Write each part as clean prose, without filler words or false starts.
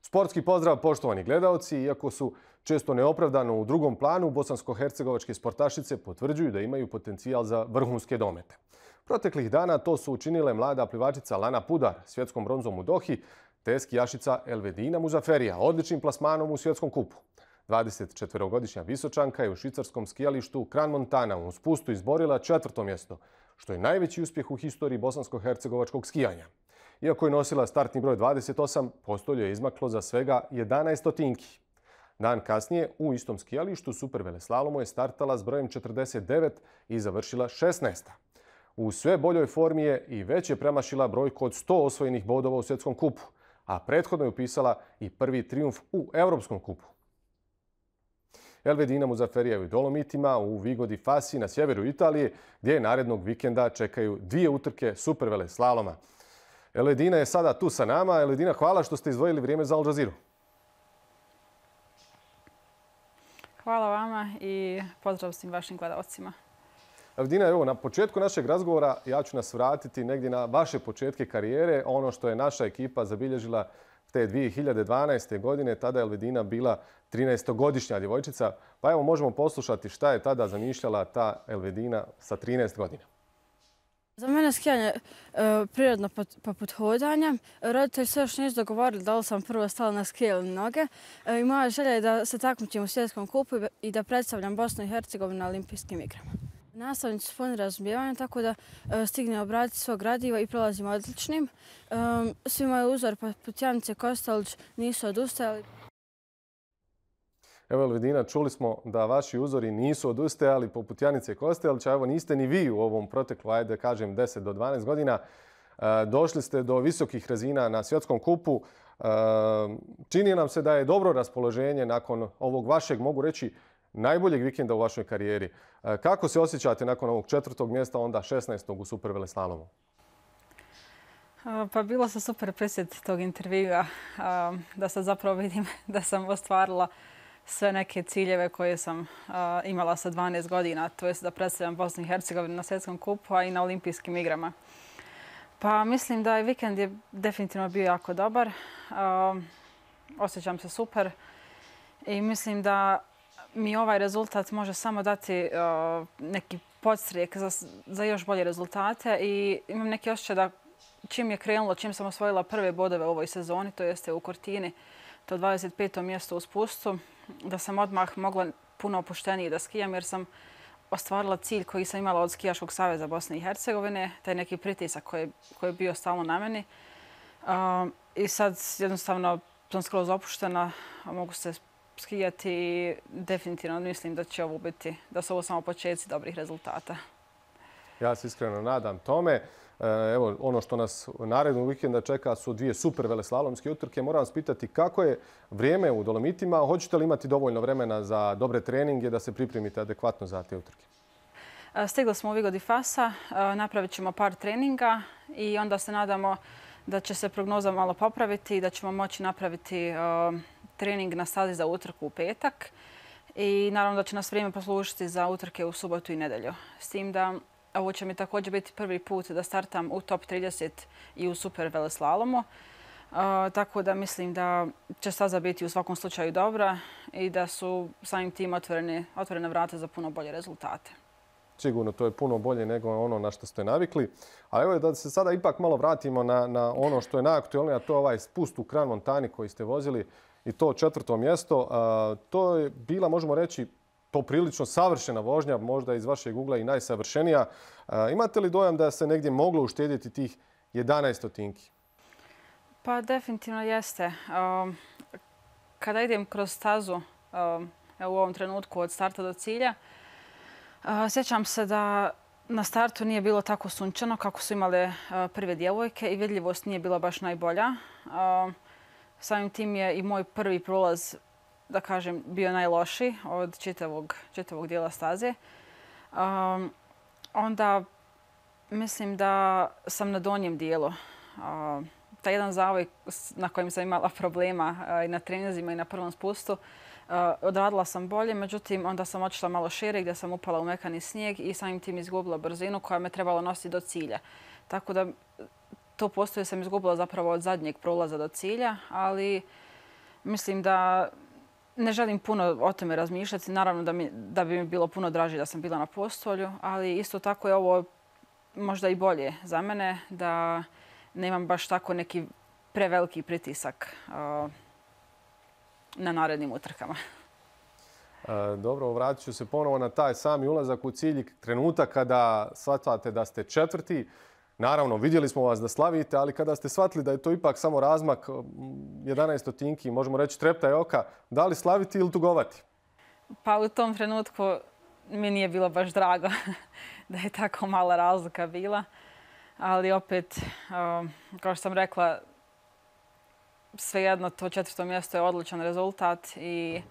Sportski pozdrav, poštovani gledaoci. Iako su često neopravdano u drugom planu, bosansko-hercegovačke sportašice potvrđuju da imaju potencijal za vrhunske domete. Proteklih dana to su učinile mlada plivačica Lana Pudar svjetskom bronzom u Dohi, te skijašica Elvedina Muzaferija odličnim plasmanom u svjetskom kupu. 24-godišnja Visočanka je u švicarskom skijalištu Kran Montana u spustu izborila 4. mjesto, što je najveći uspjeh u historiji bosansko-hercegovačkog skijanja. Iako je nosila startni broj 28, postolje je izmaklo za svega 11 stotinki. Dan kasnije u istom skijalištu superveleslalomu je startala s brojem 49 i završila 16. U sve boljoj formi je i već je premašila brojku od 100 osvojenih bodova u svjetskom kupu, a prethodno je upisala i prvi trijumf u Evropskom kupu. Elvedina Muzaferija je u Dolomitima u Vigo di Fasi na sjeveru Italije, gdje narednog vikenda čekaju 2 utrke superveleslaloma. Elvedina je sada tu sa nama. Elvedina, hvala što ste izdvojili vrijeme za Al Jazeera. Hvala vama i pozdrav svim vašim gledalcima. Elvedina, evo, na početku našeg razgovora ja ću nas vratiti negdje na vaše početke karijere. Ono što je naša ekipa zabilježila te 2012. godine, tada je Elvedina bila 13-godišnja djevojčica. Pa evo, možemo poslušati šta je tada zamišljala ta Elvedina sa 13 godina. Za mene skijanje prirodno poput hodanja. Roditelji se još nisu dogovorili da li sam prvo stala na skije ili noge. I moja želja je da se takmičim u svjetskom kupu i da predstavljam Bosnu i Hercegovinu na olimpijskim igrama. Nastavnici su puni razumijevanja, tako da stigne obraditi svog gradiva i prolazim odličnim. Svi moji uzori poput Janice Kostelić nisu odustajali. Evo, Elvedina, čuli smo da vaši uzori nisu odustajali poput Janice Kostelića. Evo, niste ni vi u ovom proteklu, ajde kažem, 10 do 12 godina. Došli ste do visokih razina na svjetskom kupu. Čini nam se da je dobro raspoloženje nakon ovog vašeg, mogu reći, najboljeg vikenda u vašoj karijeri. Kako se osjećate nakon ovog 4. mjesta, onda 16. u superveleslalomu? Pa bilo se super presjeti tog intervjua, da se zapravo vidim da sam ostvarila sve neke ciljeve koje sam imala sa 12 godina, to je da predstavljam Bosnu i Hercegovinu na svjetskom kupu, a i na olimpijskim igrama. Pa mislim da je vikend je definitivno bio jako dobar. Osjećam se super i mislim da mi ovaj rezultat može samo dati neki podstrijek za još bolje rezultate i imam neki osjećaj da čim je krenulo, čim sam osvojila prve bodove u ovoj sezoni, to jeste u Cortini, to 25. mjesto u spustu, da sam odmah mogla puno opuštenije da skijam jer sam ostvarila cilj koji sam imala od Skijaškog saveza Bosne i Hercegovine, taj neki pritisak koji je bio stalno na meni. I sad jednostavno sam skroz opuštena, mogu se skijati i definitivno mislim da će ovo biti, da su ovo samo početci dobrih rezultata. Ja se iskreno nadam tome. Evo, ono što nas narednog vikenda čeka su 2 superveleslalomske utrke. Moram vas pitati kako je vrijeme u Dolomitima. Hoćete li imati dovoljno vremena za dobre treninge da se pripremite adekvatno za te utrke? Stigli smo u Vigo di Fasa, napravit ćemo par treninga i onda se nadamo da će se prognoza malo popraviti i da ćemo moći napraviti trening na stazi za utrku u petak. I naravno da će nas vrijeme poslužiti za utrke u subotu i nedelju. S tim da ovo će mi također biti prvi put da startam u top 30 i u superveleslalomu. Tako da mislim da će staza biti u svakom slučaju dobra i da su samim tim otvorene vrata za puno bolje rezultate. Sigurno, to je puno bolje nego ono na što ste navikli. Ali evo da se sada ipak malo vratimo na ono što je najaktualnije, a to je ovaj spust u Kran Montani koji ste vozili i to 4. mjesto. To je bila, možemo reći, poprilično savršena vožnja, možda iz vašeg ugla i najsavršenija. Imate li dojam da se negdje moglo uštedjeti tih 11 stotinki? Pa definitivno jeste. Kada idem kroz stazu u ovom trenutku od starta do cilja, sjećam se da na startu nije bilo tako sunčano kako su imale prve djevojke i vidljivost nije bila baš najbolja. Samim tim je i moj prvi prolaz, da kažem, bio najlošiji od čitavog dijela staze. Onda mislim da sam na donjem dijelu. Taj jedan zavoj na kojem sam imala problema i na treninzima i na prvom spustu, odradila sam bolje, međutim onda sam otišla malo šire gdje sam upala u mekani snijeg i samim tim izgubila brzinu koja me trebalo nositi do cilja. Tako da to postoje sam izgubila zapravo od zadnjeg prolaza do cilja, ali mislim da ne želim puno o tome razmišljati. Naravno da bi mi bilo puno draže da sam bila na postolju, ali isto tako je ovo možda i bolje za mene, da nemam baš tako neki preveliki pritisak na narednim utrkama. Dobro, vratit ću se ponovo na taj sami ulazak u cilj, trenutak kada shvatate da ste četvrti. Naravno, vidjeli smo vas da slavite, ali kada ste shvatili da je to ipak samo razmak 11 stotinki, možemo reći treptaj oka, da li slaviti ili tugovati? Pa u tom trenutku mi nije bilo baš drago da je tako mala razlika bila. Ali opet, kao što sam rekla, svejedno to 4. mjesto je odličan rezultat i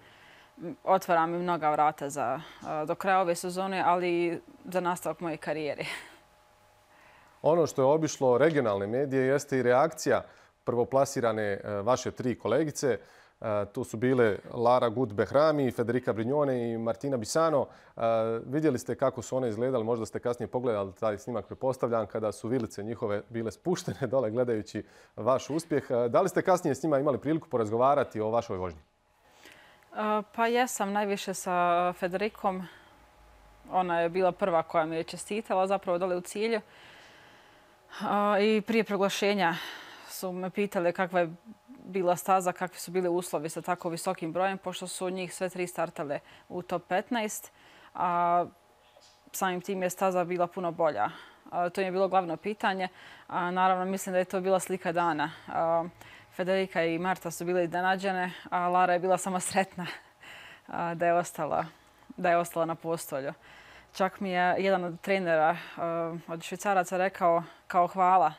otvara mi mnoga vrata do kraja ove sezone, ali i za nastavak moje karijere. Ono što je obišlo regionalne medije jeste i reakcija prvoplasirane vaše 3 kolegice. Tu su bile Lara Gut-Behrami, Federica Brignone i Martina Bisano. Vidjeli ste kako su one izgledali, možda ste kasnije pogledali taj snimak, prepostavljam, kada su vilice njihove bile spuštene dole gledajući vaš uspjeh. Da li ste kasnije s njima imali priliku porazgovarati o vašoj vožnji? Pa jesam najviše sa Federicom. Ona je bila prva koja mi je čestitala zapravo dole u cilju. I prije proglašenja su me pitali kakva je bila staza, kakvi su bili uslovi sa tako visokim brojem, pošto su njih sve 3 startale u top 15, a samim tim je staza bila puno bolja. To je bilo glavno pitanje. Naravno, mislim da je to bila slika dana. Federica i Marta su bile iznenađene, a Lara je bila samo sretna da je ostala na postolju. Čak mi je jedan od trenera od Švicaraca rekao kao hvala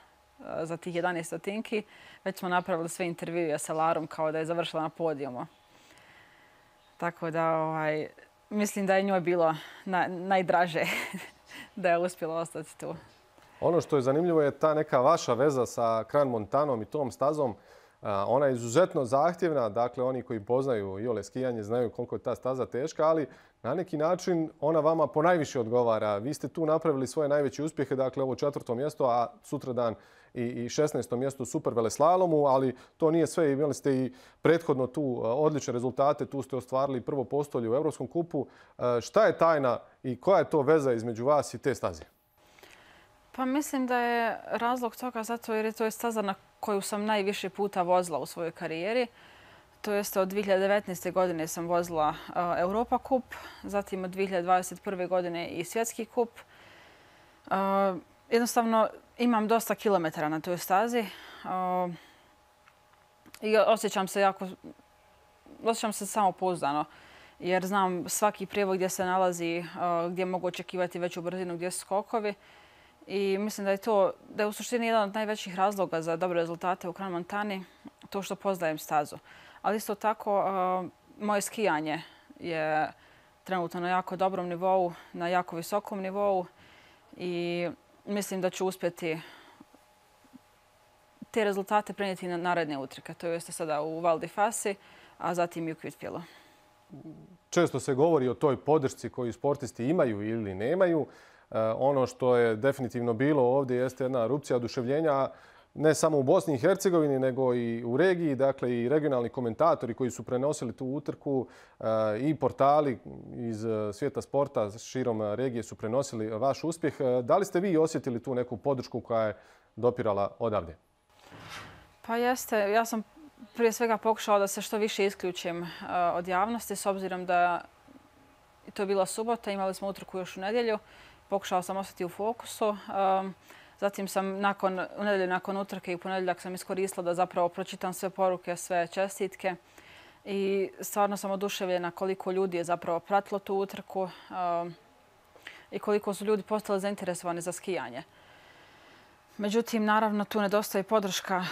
za tih 11 stotinki. Već smo napravili sve intervjue sa Larom kao da je završila na podijumu. Tako da mislim da je njoj bilo najdraže da je uspjela ostati tu. Ono što je zanimljivo je ta neka vaša veza sa Crans Montanom i tom stazom. Ona je izuzetno zahtjevna, dakle oni koji poznaju iole skijanje znaju koliko je ta staza teška, ali na neki način ona vama ponajviše odgovara. Vi ste tu napravili svoje najveće uspjehe, dakle ovo 4. mjesto, a sutradan i 16. mjesto u super veleslalomu, ali to nije sve. Imali ste i prethodno tu odlične rezultate, tu ste ostvarili prvo postolje u Evropskom kupu. Šta je tajna i koja je to veza između vas i te staze? Pa mislim da je razlog toga zato jer je to staza na koju sam najviše puta vozila u svojoj karijeri. To jeste od 2019. godine sam vozila Europa kup, zatim od 2021. godine i svjetski kup. Jednostavno imam dosta kilometara na toj stazi i osjećam se samopouzdano jer znam svaki prijevod gdje se nalazi, gdje mogu očekivati veću brzinu, gdje su skokovi. I mislim da je u suštini jedan od najvećih razloga za dobre rezultate u Crans Montani to što poznajem stazu. Ali isto tako, moje skijanje je trenutno na jako dobrom nivou, na jako visokom nivou i mislim da ću uspjeti te rezultate prenijeti na naredne utrke. To jeste sada u Val di Fasi, a zatim i u Kvitfjellu. Često se govori o toj podršci koju sportisti imaju ili nemaju. Ono što je definitivno bilo ovdje jeste jedna erupcija oduševljenja, ne samo u Bosni i Hercegovini, nego i u regiji. Dakle, i regionalni komentatori koji su prenosili tu utrku i portali iz svijeta sporta širom regije su prenosili vaš uspjeh. Da li ste vi osjetili tu neku podršku koja je dopirala odavde? Pa jeste. Ja sam prije svega pokušala da se što više isključim od javnosti, s obzirom da to je bila subota, imali smo utrku još u nedjelju. Pokušala sam ostati u fokusu. Zatim sam u nedjelju nakon utrke i u ponedjeljak sam iskoristila da zapravo pročitam sve poruke, sve čestitke. I stvarno sam oduševljena koliko ljudi je zapravo pratilo tu utrku i koliko su ljudi postali zainteresovani za skijanje. Međutim, naravno, tu nedostaje podrška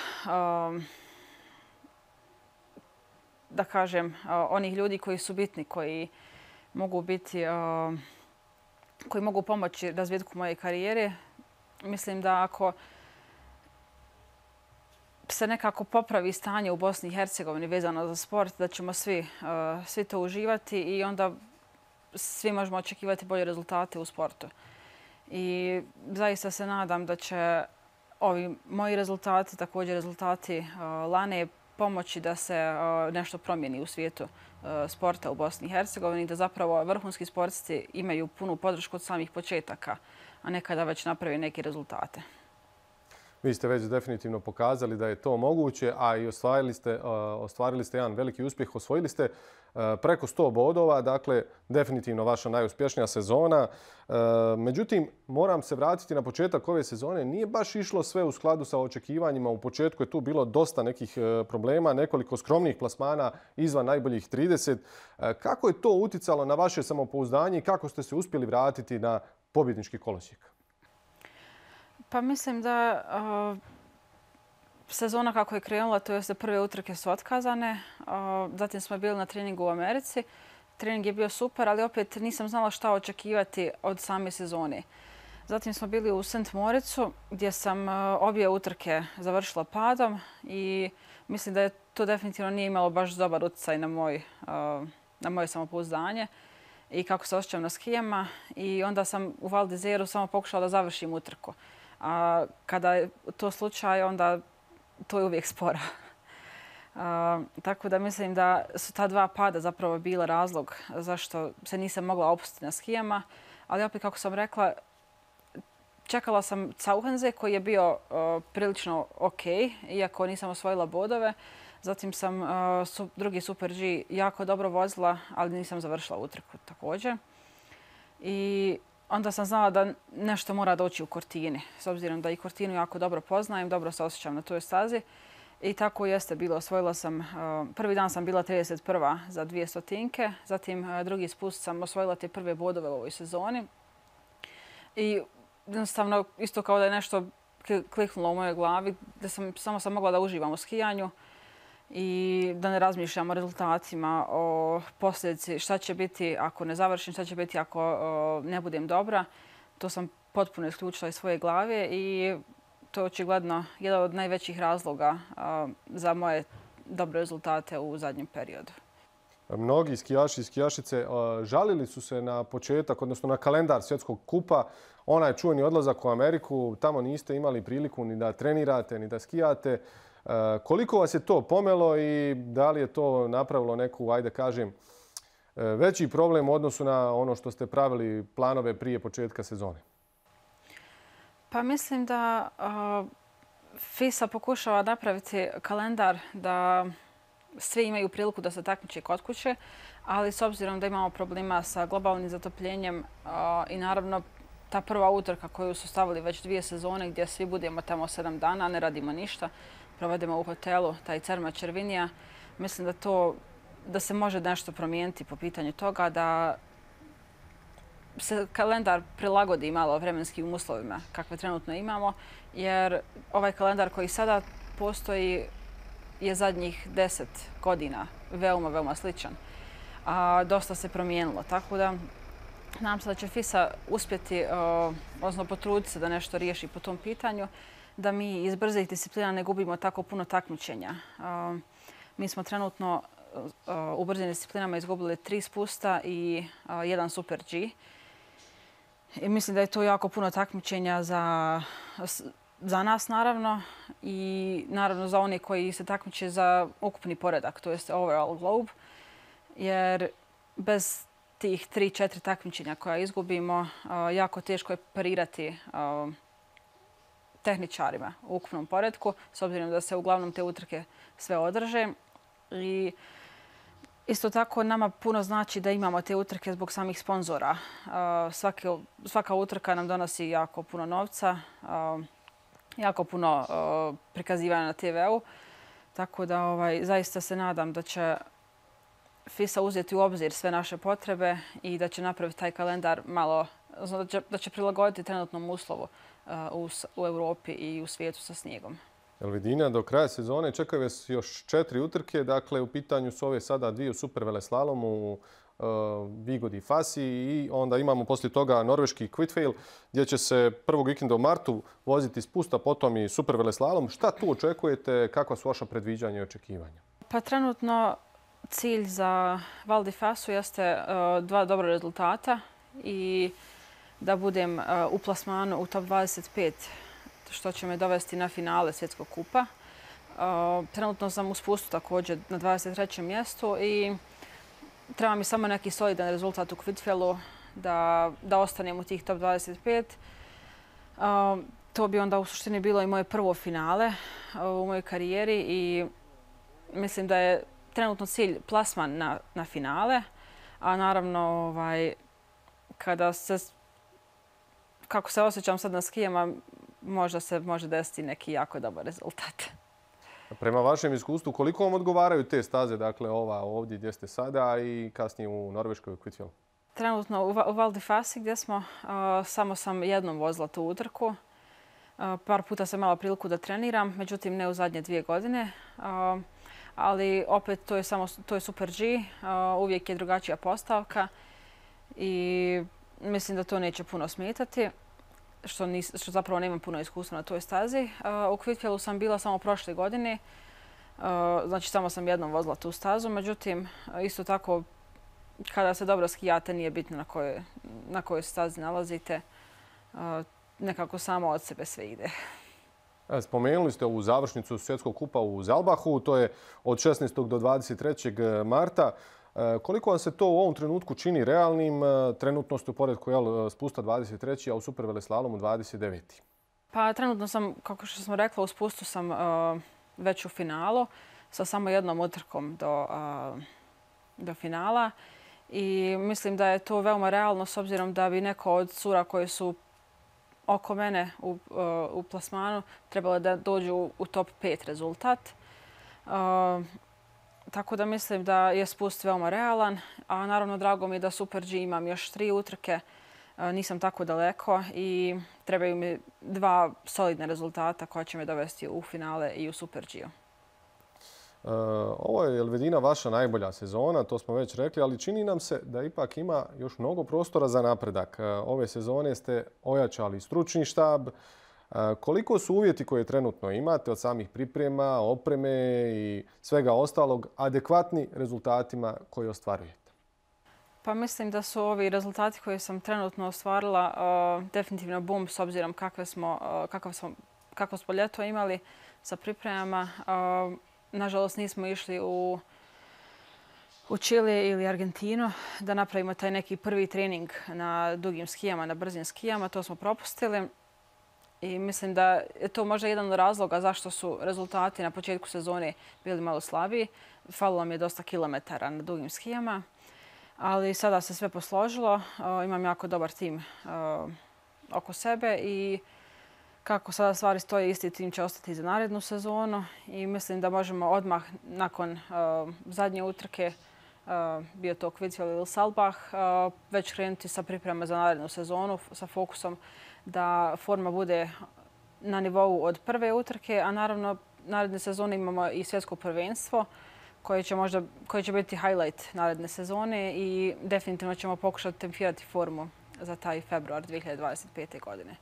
da kažem, onih ljudi koji su bitni, koji mogu pomoći razvitku moje karijere. Mislim da ako se nekako popravi stanje u Bosni i Hercegovini vezano za sport, da ćemo svi to uživati i onda svi možemo očekivati bolje rezultate u sportu. I zaista se nadam da će ovi moji rezultati, također rezultati Lane, pomoći da se nešto promijeni u svijetu sporta u Bosni i Hercegovini, da zapravo vrhunski sportisti imaju punu podršku od samih početaka, a ne kada već napravi neke rezultate. Vi ste već definitivno pokazali da je to moguće, a i ostvarili ste jedan veliki uspjeh. Osvojili ste preko 100 bodova, dakle definitivno vaša najuspješnija sezona. Međutim, moram se vratiti na početak ove sezone. Nije baš išlo sve u skladu sa očekivanjima. U početku je tu bilo dosta nekih problema, nekoliko skromnih plasmana izvan najboljih 30. Kako je to uticalo na vaše samopouzdanje i kako ste se uspjeli vratiti na pobjednički kolosijek? Pa mislim da sezona kako je krenula, to jest da prve utrke su otkazane. Zatim smo bili na treningu u Americi. Trening je bio super, ali opet nisam znala šta očekivati od same sezone. Zatim smo bili u St. Moricu gdje sam obje utrke završila padom i mislim da je to definitivno nije imalo baš dobar utjecaj na moje samopouzdanje i kako se osjećam na skijama. I onda sam u Val d'Isèru samo pokušala da završim utrku. A kada je to slučaj, onda to je uvijek spora. Tako da mislim da su ta dva pada zapravo bila razlog zašto se nisam mogla opustiti na skijama. Ali opet, kako sam rekla, čekala sam Cauhenze koji je bio prilično ok, iako nisam osvojila bodove. Zatim sam drugi Super G jako dobro vozila, ali nisam završila utrku također. I onda sam znala da nešto mora doći u Cortini, s obzirom da i Cortinu jako dobro poznajem, dobro se osjećam na toj stazi. I tako jeste bilo. Osvojila sam, prvi dan sam bila 31. za 200-tinke, zatim drugi spust sam osvojila te prve bodove u ovoj sezoni. I jednostavno, isto kao da je nešto kliknulo u mojoj glavi, da samo sam mogla da uživam u skijanju i da ne razmišljam o rezultatima, o posljedici, šta će biti ako ne završim, šta će biti ako ne budem dobra. To sam potpuno isključila iz svoje glave i to je očigledno jedan od najvećih razloga za moje dobre rezultate u zadnjem periodu. Mnogi skijaši i skijašice žalili su se na početak, odnosno na kalendar svjetskog kupa. Onaj čuveni odlazak u Ameriku, tamo niste imali priliku ni da trenirate, ni da skijate. Koliko vas je to pomelo i da li je to napravilo neku, ajde kažem, veći problem u odnosu na ono što ste pravili planove prije početka sezone? Pa mislim da FISA pokušava napraviti kalendar da svi imaju priliku da se takmiče kod kuće, ali s obzirom da imamo problema sa globalnim zatopljenjem i naravno ta prva utrka koju su stavili već 2 sezone gdje svi budemo tamo 7 dana, ne radimo ništa, provedemo u hotelu, taj Cerma Červinija, mislim da se može nešto promijeniti po pitanju toga, da se kalendar prilagodi malo vremenskim uslovima kakve trenutno imamo, jer ovaj kalendar koji sada postoji je zadnjih 10 godina veoma, veoma sličan. A dosta se promijenilo, tako da nadam se da će FISA uspjeti, odnosno potruditi se da nešto riješi po tom pitanju, da mi iz brzih disciplina ne gubimo tako puno takmičenja. Mi smo trenutno u brzim disciplinama izgubili 3 spusta i 1 Super G. I mislim da je to jako puno takmičenja za nas, naravno, i naravno za one koji se takmiče za ukupni poredak, to jest overall globe, jer bez tih 3-4 takmičenja koja izgubimo, jako teško je parirati tehničarima u ukupnom poredku, s obzirom da se uglavnom te utrke sve održe. I isto tako nama puno znači da imamo te utrke zbog samih sponzora. Svaka utrka nam donosi jako puno novca, jako puno prikazivanja na TV-u. Tako da zaista se nadam da će FISA uzeti u obzir sve naše potrebe i da će napraviti taj kalendar malo, da će prilagoditi trenutnom uslovu u Europi i u svijetu sa snijegom. Elvidina, do kraja sezone čekaju vas još 4 utrke. Dakle, u pitanju su ove sada 2 u super veleslalomu, Vigodi Fasi i onda imamo poslije toga norveški Kvitfjell gdje će se prvog vikenda u martu voziti spusta, potom i super veleslalom. Šta tu očekujete? Kakva su vaša predviđanja i očekivanja? Pa trenutno cilj za Val di Fasu jeste 2 dobra rezultata i da budem u plasmanu u top 25, što će me dovesti na finale svjetskog kupa. Trenutno sam u spustu također na 23. mjestu i treba mi samo neki solidan rezultat u Kvitfjellu da ostanem u tih top 25. To bi onda u suštini bilo i moje prvo finale u mojoj karijeri i mislim da je trenutno cilj plasman na finale, a naravno kako se osjećam sad na skijama, možda se može desiti neki jako dobar rezultat. Prema vašem iskustvu, koliko vam odgovaraju te staze, dakle ova ovdje gdje ste sada i kasnije u Norveškoj u Kvitfjellu? Trenutno u Val di Fasi gdje smo, samo sam jednom vozila tu utrku. Par puta sam imala priliku da treniram, međutim ne u zadnje 2 godine. Ali opet to je Super G, uvijek je drugačija postavka i mislim da to neće puno smetati, što zapravo nemam puno iskustva na toj stazi. U Kvitfjellu sam bila samo prošle godine, znači samo sam jednom vozila tu stazu, međutim isto tako kada se dobro skijate nije bitno na kojoj stazi nalazite, nekako samo od sebe sve ide. Spomenuli ste ovu završnicu Svjetskog kupa u Zalbahu, to je od 16. do 23. marta. Koliko vam se to u ovom trenutku čini realnim? Trenutno ste u poredku spusta 23. a u superveleslalomu 29. Pa trenutno sam, kako što smo rekla, u spustu sam već u finalu sa samo jednom utrkom do finala. I mislim da je to veoma realno s obzirom da bi neko od cura koje su oko mene u plasmanu trebalo da dođu u top 5 rezultat. Tako da mislim da je spust veoma realan, a naravno drago mi je da Super G imam još 3 utrke. Nisam tako daleko i trebaju mi 2 solidne rezultata koja će me dovesti u finale i u Super G-u. Ovo je Elvedina vaša najbolja sezona, to smo već rekli, ali čini nam se da ipak ima još mnogo prostora za napredak. Ove sezone ste ojačali stručni štab. Koliko su uvjeti koje trenutno imate od samih priprema, opreme i svega ostalog adekvatni rezultatima koje ostvarujete? Pa mislim da su ovi rezultati koje sam trenutno ostvarila definitivno boom s obzirom kako smo ljeto imali sa pripremama. Nažalost, nismo išli u Čile ili Argentinu da napravimo taj neki prvi trening na dugim skijama, na brzim skijama. To smo propustili i mislim da je to možda jedan od razloga zašto su rezultati na početku sezone bili malo slabiji. Falilo mi je dosta kilometara na dugim skijama, ali sada se sve posložilo. Imam jako dobar tim oko sebe i kako sada stvari stoje, isti tim će ostati za narednu sezonu i mislim da možemo odmah nakon zadnje utrke, bio to Kvitfjell ili Salbach, već krenuti sa pripremama za narednu sezonu sa fokusom da forma bude na nivou od prve utrke, a naravno naredne sezone imamo i svjetsko prvenstvo koje će biti highlight naredne sezone i definitivno ćemo pokušati tempirati formu za taj februar 2025. godine.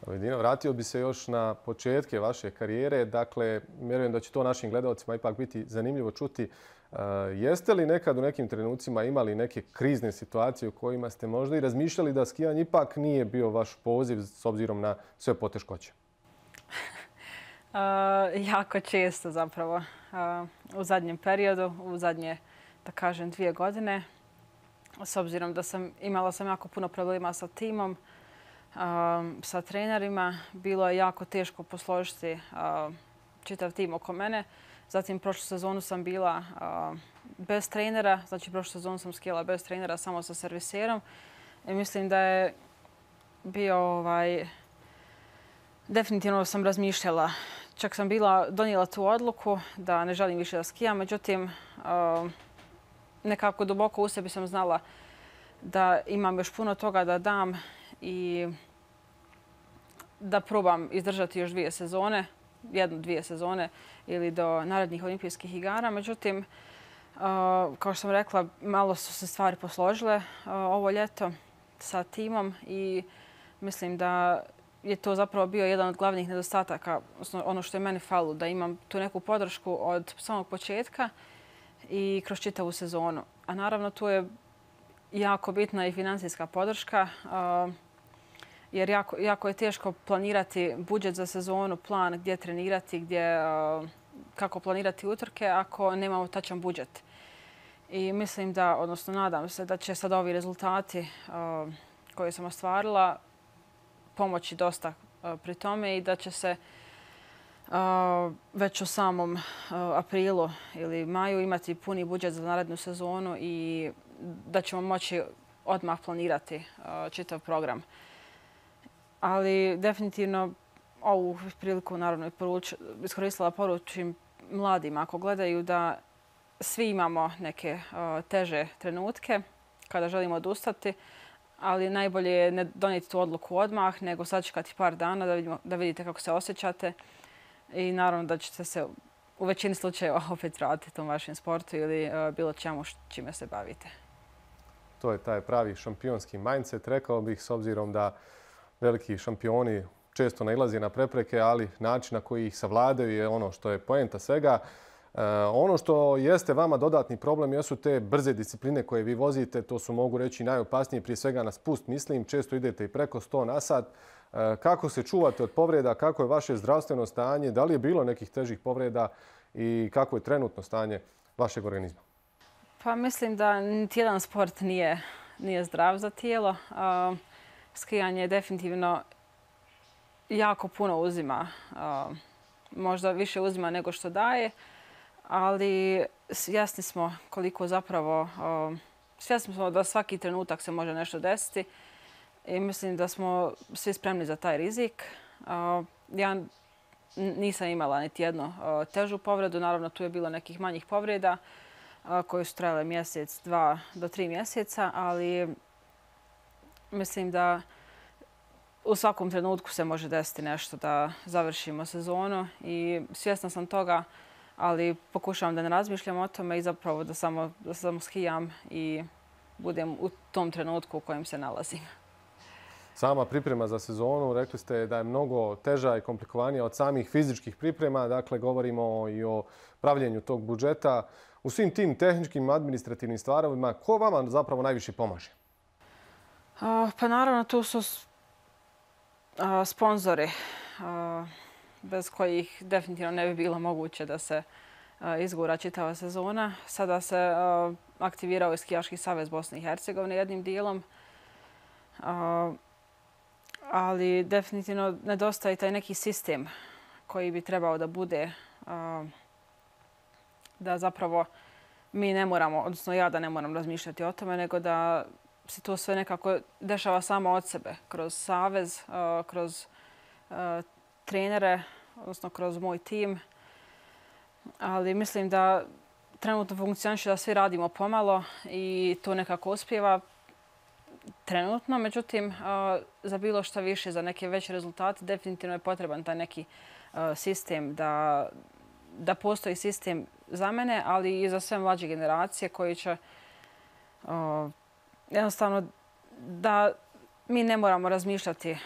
Elvedina, vratio bi se još na početke vaše karijere. Dakle, vjerujem da će to našim gledalcima ipak biti zanimljivo čuti. Jeste li nekad u nekim trenucima imali neke krizne situacije u kojima ste možda i razmišljali da skijanje ipak nije bio vaš poziv s obzirom na sve poteškoće? Jako često zapravo. U zadnjem periodu, u zadnje, da kažem, 2 godine. S obzirom da imala sam jako puno problema sa timom, sa trenerima. Bilo je jako teško posložiti čitav tim oko mene. Zatim, prošlu sezonu sam bila bez trenera. Znači, prošlu sezonu sam skijala bez trenera, samo sa serviserom. I mislim da je bio definitivno sam razmišljala. Čak sam donijela tu odluku da ne želim više da skijam. Međutim, nekako duboko u sebi sam znala da imam još puno toga da dam i da probam izdržati još 2 sezone, 1-2 sezone ili do narednih olimpijskih igara. Međutim, kao što sam rekla, malo su se stvari posložile ovo ljeto sa timom i mislim da je to zapravo bio jedan od glavnih nedostataka, ono što je meni falilo, da imam tu neku podršku od samog početka i kroz čitavu sezonu. A naravno tu je jako bitna i financijska podrška. jer jako je teško planirati budžet za sezonu, plan gdje trenirati, kako planirati utrke ako nemamo tačan budžet. I mislim da, odnosno nadam se da će sad ovi rezultati koje sam ostvarila pomoći dosta pri tome i da će se već u samom aprilu ili maju imati puni budžet za narednu sezonu i da ćemo moći odmah planirati čitav program. Ali definitivno ovu priliku naravno iskoristila poručim mladima ako gledaju da svi imamo neke teže trenutke kada želimo odustati, ali najbolje je ne donijeti tu odluku odmah, nego sačekati par dana da vidite kako se osjećate i naravno da ćete se u većini slučajeva opet vratiti u vašem sportu ili bilo čemu čime se bavite. To je taj pravi šampionski mindset, rekao bih, s obzirom da veliki šampioni često nailaze na prepreke, ali način na koji ih savladaju je ono što je poenta svega. Ono što jeste vama dodatni problem jesu te brze discipline koje vi vozite. To su, mogu reći, najopasnije, prije svega na spust, mislim. Često idete i preko 100 na sat. Kako se čuvate od povreda? Kako je vaše zdravstveno stanje? Da li je bilo nekih težih povreda i kako je trenutno stanje vašeg organizma? Pa mislim da niti jedan sport nije zdrav za tijelo. Skijanje definitivno jako puno uzima. Možda više uzima nego što daje. Ali svjesni smo koliko zapravo, svjesni smo da svaki trenutak se može nešto desiti i mislim da smo svi spremni za taj rizik. Ja nisam imala niti jednu težu povredu, naravno tu je bilo nekih manjih povreda koje su trajale mjesec, 2 do 3 mjeseca, ali mislim da u svakom trenutku se može desiti nešto da završimo sezonu i svjesna sam toga, ali pokušavam da ne razmišljam o tome i zapravo da samo skijam i budem u tom trenutku u kojem se nalazim. Sama priprema za sezonu, rekli ste da je mnogo teža i komplikovanija od samih fizičkih priprema. Dakle, govorimo i o pravljenju tog budžeta. U svim tim tehničkim, administrativnim stvarovima, ko vama zapravo najviše pomaže? Pa naravno, tu su sponzori, bez kojih definitivno ne bi bilo moguće da se izgura čitava sezona. Sada se aktivirao i Skijaški savez Bosne i Hercegovine jednim dijelom, ali definitivno nedostaje taj neki sistem koji bi trebao da bude da zapravo mi ne moramo, odnosno ja da ne moram razmišljati o tome, nego da se to sve nekako dešava samo od sebe, kroz savez, kroz trenere, odnosno kroz moj tim. Ali mislim da trenutno funkcioniše da svi radimo pomalo i to nekako uspijeva trenutno. Međutim, za bilo šta više, za neke veće rezultate, definitivno je potreban taj neki sistem, da postoji sistem za mene, ali i za sve mlađe generacije koji će jednostavno da mi ne moramo razmišljati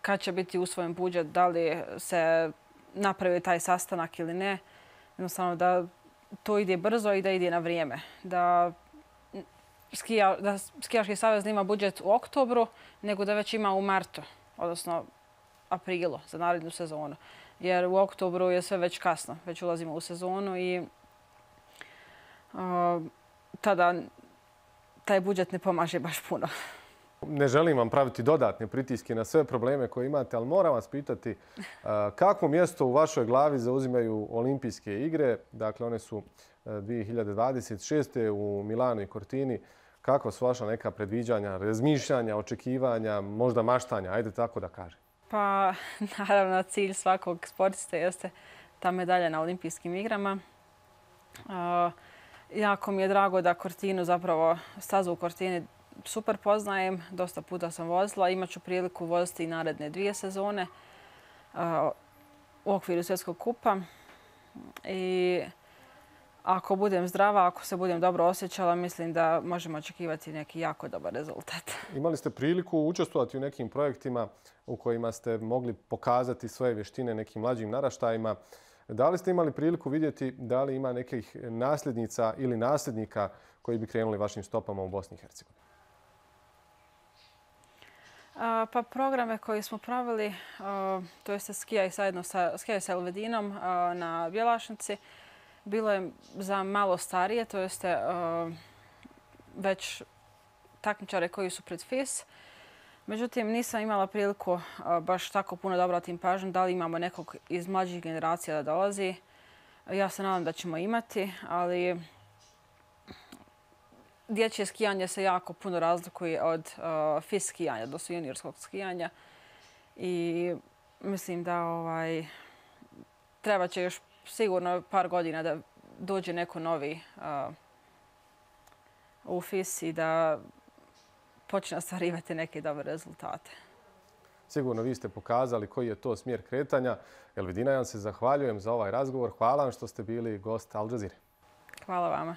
kad će biti usvojen budžet, da li se napravi taj sastanak ili ne. Jednostavno da to ide brzo i da ide na vrijeme. Da Skijaški savez nema budžet u oktobru, nego da već ima u martu, odnosno aprilu za narednu sezonu. Jer u oktobru je sve već kasno, već ulazimo u sezonu i tada taj budžet ne pomaže baš puno. Ne želim vam praviti dodatne pritiske na sve probleme koje imate, ali moram vas pitati kakvo mjesto u vašoj glavi zauzimaju olimpijske igre. Dakle, one su 2026. u Milanu i Cortini. Kakva su vaša neka predviđanja, razmišljanja, očekivanja, možda maštanja? Ajde tako da kažem. Pa, naravno, cilj svakog sportista jeste ta medalja na olimpijskim igrama. Jako mi je drago da Cortinu, zapravo stazu u Cortini super poznajem. Dosta puta sam vozila. Imaću priliku voziti i naredne 2 sezone u okviru svjetskog kupa. I ako budem zdrava, ako se budem dobro osjećala, mislim da možemo očekivati neki jako dobar rezultat. Imali ste priliku učestvovati u nekim projektima u kojima ste mogli pokazati svoje vještine nekim mlađim naraštajima. Da li ste imali priliku vidjeti da li ima nekih nasljednica ili nasljednika koji bi krenuli vašim stopama u Bosni i Hercegovini? Pa programe koje smo pravili, to je skijaj sa Elvedinom na Bjelašnici, bilo je za malo starije, to jeste već takmičare koji su pred FIS. Međutim, nisam imala priliku baš tako puno da obratim pažnju da li imamo nekog iz mlađih generacija da dolazi. Ja se nadam da ćemo imati, ali dječje skijanje se jako puno razlikuje od FIS skijanja, odnosno juniorskog skijanja. I mislim da treba će još sigurno par godina da dođe neko novi u FIS i da počne ostvarivati neke dobre rezultate. Sigurno vi ste pokazali koji je to smjer kretanja. Elvedina, ja vam se zahvaljujem za ovaj razgovor. Hvala vam što ste bili gost Al Jazeere. Hvala vama.